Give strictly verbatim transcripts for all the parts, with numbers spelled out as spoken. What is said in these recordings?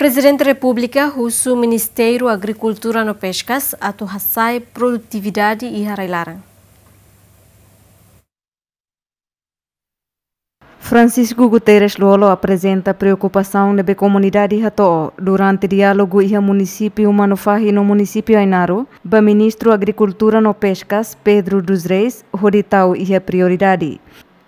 Prezidente Repúblika husu Ministériu Agrikultura no Peskas atu hasa'e produtividade iha rai-laran. Francisco Guterres Lú-Olo aprezenta preokupasaun ne'ebé komunidade hato'o durante diálogu iha munisípiu Manufahi no munisípiu Ainaro ba Ministru Agrikultura no Peskas, Pedro dos Reis, hodi tau iha prioridade.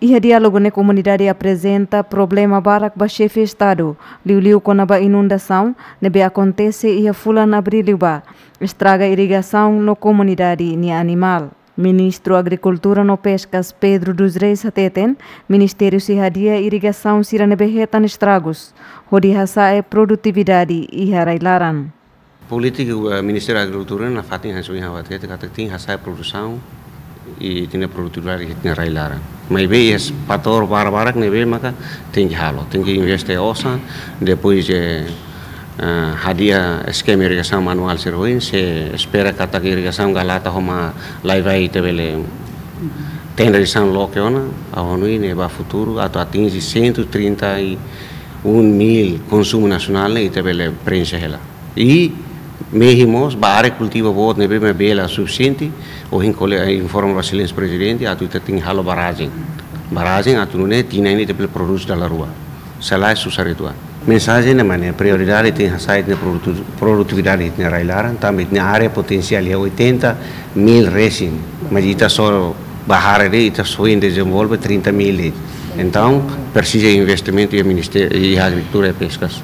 Iha diálogu ne'e komunidade aprezenta problema barak ba xefe Estadu, liuliu kona-ba inundasaun ne'ebé akontese iha fulan Abríl liubá, estraga irrigasaun no komunidade nia animál. Ministru Agrikultura no Peskas, Pedro dos Reis, hateten, ministériu sei hadi'a irrigasaun sira ne'ebé hetan estragus, hodi hasa'e produtividade iha rai-laran. Polítika, eh, Ministériu Agrikultura nafatin hanesan ohin ha'u hatete katak tenke hasa'e produsaun i tenke produtividade iha rai-laran. Maibé iha fatór barak-barak ne'ebé maka tenke halo, tenke investe osan, depois, eh, eh, hadi'a eskema irrigasaun manuál sira ohin, sei espera katak irrigasaun Galata ho Mai-Vai ita bele tenda irrigasaun loke ona, hahú ne'e ba futuru atu atinje cento e trinta e um mil konsumu nasionál ne'e ita bele prenxe hela. I mehi mós ba área kultivu boot ne'ebé mak bele sufisiente, ohin ko'alia informa ba Exelénsia Prezidente atu ita tenke halo barrajen. Barrajen atu nune'e tinan ne'e ita bele prodús dala rua. Se lae susar uitoan. Mensajen ne'e mak ne'e, prioridade tenke hasa'e ita-nia produtu-, produtividade iha ita-nia rai-laran, tanba ita-nia área potensiál iha oitenta mil resin. Mas ita só ba haree de'it, ita só foin dezenvolve trinta mil de'it. Entaun, presiza investimentu iha ministériu, iha agrikultura i peskas.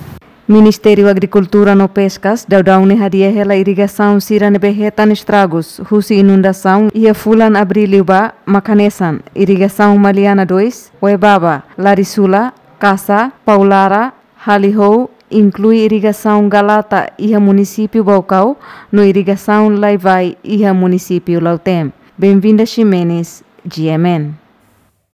Ministériu Agrikultura no Peskas daudaun ne'e hadi'a hela irrigasaun sira ne'ebé hetan estragus husi inundasaun iha fulan Abríl liubá, mak hanesan irrigasaun Maliana dois, Oebaba, Larisula, Kasa, Paulara, Halihou, inklui irrigasaun Galata iha munisípiu Baucau, no irrigasaun Lai-Vai iha munisípiu Lautém. Benvinda Ximenes, G M N.